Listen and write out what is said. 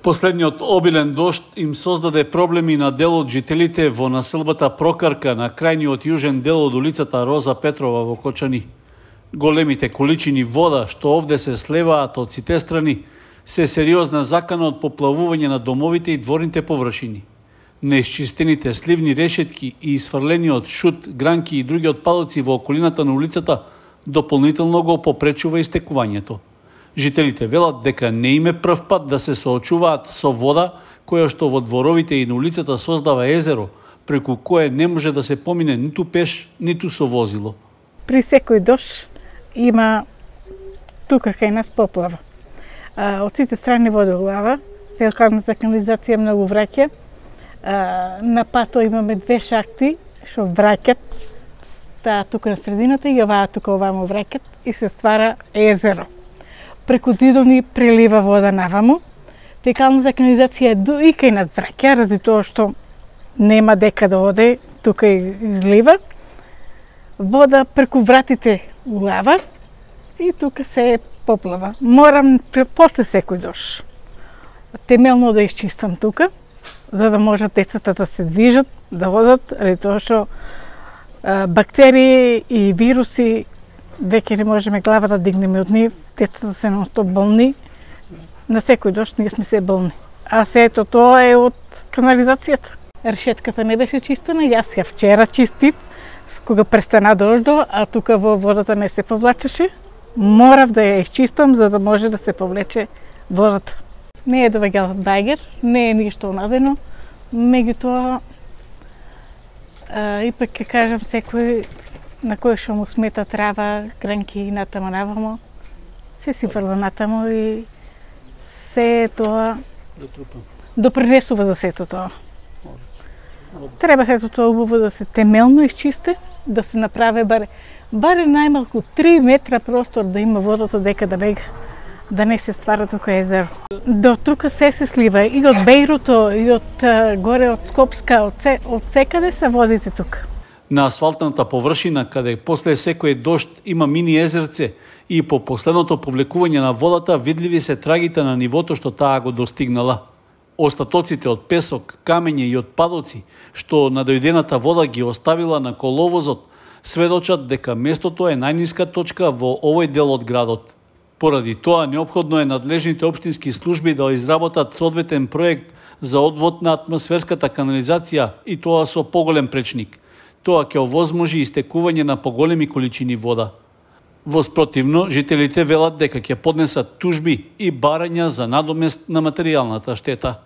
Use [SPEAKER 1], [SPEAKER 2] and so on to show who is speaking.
[SPEAKER 1] Последниот обилен дожд им создаде проблеми на дел од жителите во населбата Прокарка на крајниот јужен дел од улицата Роза Петрова во Кочани. Големите количини вода што овде се слеваат од сите страни се сериозна закана од поплавување на домовите и дворните површини. Неисчистените сливни решетки и изфрлениот шут, гранки и други отпадоци во околината на улицата дополнително го попречува истекувањето. Жителите велат дека не им е прв пат да се соочуваат со вода која што во дворовите и на улицата создава езеро, преку кое не може да се помине ниту пеш, ниту со возило.
[SPEAKER 2] При секој дожд има тука кај нас поплава. Од сите страни вода улава, фекалната канализација многу враќа. На пато имаме две шахти што враќат, таа тука на средината и оваа тука овамо враќат и се ствара езеро. Преку зидови прелива вода наваму. Фекалната канализација и кај нас враќа, ради тоа што нема дека да оде, тука излива. Вода преку вратите улава и тука се поплава. Морам после секој дожд темелно да исчистам тука, за да можат децата да се движат, да одат, ради тоа што бактерии и вируси веќе не можеме глава да дигнеме од нив, децата се non-stop болни, на секој дожд ние сме се болни. А сето тоа е од канализацијата. Решетката не беше чистена, јас ја вчера чистив, кога престана дождо, а тука во водата не се повлачеше. Морав да ја изчистам за да може да се повлече водата. Не е доваѓал багер, не е ништо надено, меѓутоа ипак ќе кажам секој на кој што му смета трава, гранки натамо навамо, се си фрла натамо и се тоа допринесува за сето тоа. Треба сето тоа убаво да се темелно изчисти, да се направи баре најмалку 3 метра простор да има водата дека да бега, да не се ствара тука езеро. До тука се слива и од Бејруто, и од горе од Скопска, од секаде се водите тука.
[SPEAKER 1] На асфалтната површина, каде после секој дожд има мини езерце и по последното повлекување на водата видливи се трагите на нивото што таа го достигнала. Остатоците од песок, камења и отпадоци што надојдената вода ги оставила на коловозот сведочат дека местото е најниска точка во овој дел од градот. Поради тоа неопходно е надлежните општински служби да изработат соодветен проект за одвод на атмосферската канализација и тоа со поголем пречник. Тоа ќе овозможи истекување на поголеми количини вода. Во спротивно, жителите велат дека ќе поднесат тужби и барања за надомест на материјалната штета.